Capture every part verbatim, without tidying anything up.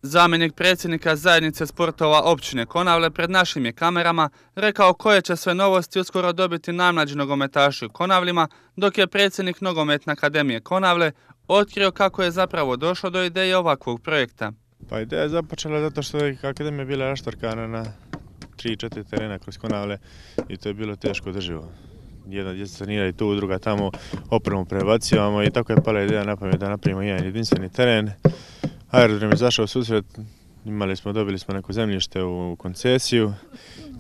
Zamjenik predsjednika zajednice sportova općine Konavle pred našim je kamerama rekao koje će sve novosti uskoro dobiti najmlađi nogometaši u Konavlima, dok je predsjednik Nogometne akademije Konavle otkrio kako je zapravo došlo do ideje ovakvog projekta. Pa ideja je započela zato što je akademija bila raštrkana na tri četiri terena kroz Konavle i to je bilo teško održivo. Jedna djeca treniraju tu, druga tamo, opremu prebacivamo i tako je pala ideja na pamet da napravimo jedan jedinstveni teren. Aerodrom je zašao u susret, imali smo, dobili smo neko zemljište u koncesiju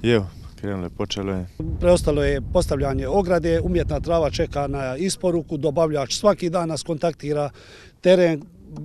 i evo, krenulo je, počelo je. Preostalo je postavljanje ograde, umjetna trava čeka na isporuku, dobavljač svaki dan nas kontaktira, teren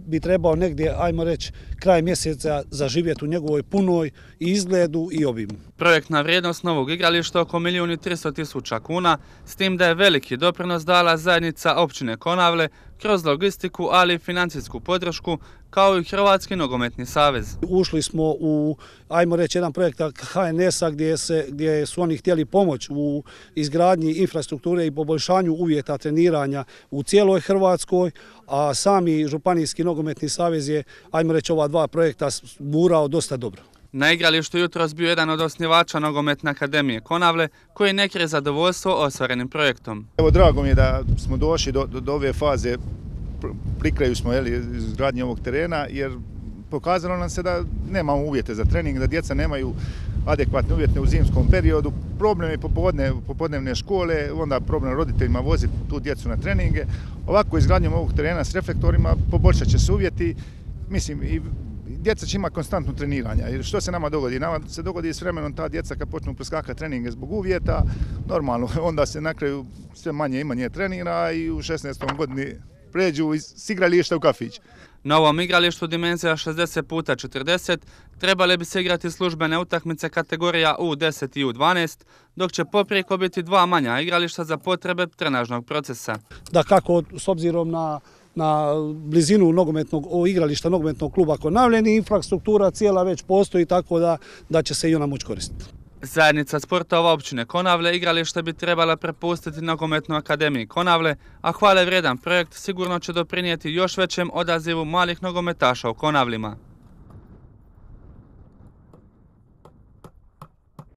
bi trebao negdje, ajmo reći, kraj mjeseca zaživjeti u njegovoj punoj izgledu i obimu. Projektna vrijednost novog igrališta oko milijun i tristo tisuća kuna, s tim da je veliki doprinos dala zajednica općine Konavle kroz logistiku, ali i financijsku podršku, kao i Hrvatski nogometni savez. Ušli smo u, ajmo reći, jedan projekt H N S-a gdje, se, gdje su oni htjeli pomoć u izgradnji infrastrukture i poboljšanju uvjeta treniranja u cijeloj Hrvatskoj, a sami Županijski nogometni savez je, ajmo reći, ova dva projekta gurao dosta dobro. Na igralištu jutros bio jedan od osnivača Nogometne akademije Konavle, koji ne krije zadovoljstvo ostvarenim projektom. Evo, drago mi je da smo došli do, do, do ove faze, pri kraju smo izgradnje ovog terena, jer pokazalo nam se da nemamo uvjete za trening, da djeca nemaju adekvatne uvjete u zimskom periodu. Problem je popodne, popodnevne škole, onda problem roditeljima voziti tu djecu na treninge. Ovako izgradnjom ovog terena s reflektorima poboljšat će se uvjeti, mislim, i djeca će imati konstantno treniranje. Jer što se nama dogodi? Nama se dogodi s vremenom ta djeca kad počnu preskakati treninge zbog uvjeta, normalno, onda se na kraju sve manje i manje trenira i u šesnaestoj godini pređu iz igrališta u kafić. Na ovom igralištu dimenzija šezdeset puta četrdeset trebale bi se igrati službene utakmice kategorija U deset i U dvanaest, dok će poprijeko biti dva manja igrališta za potrebe trenažnog procesa. Da kako s obzirom na na blizinu nogometnog igrališta nogometnog kluba Konavljeni, infrastruktura cijela već postoji, tako da, da će se i ona moći koristiti. Zajednica sportova općine Konavle igralište bi trebala prepustiti Nogometnoj akademiji Konavle, a hvale vrijedan projekt sigurno će doprinijeti još većem odazivu malih nogometaša u Konavlima.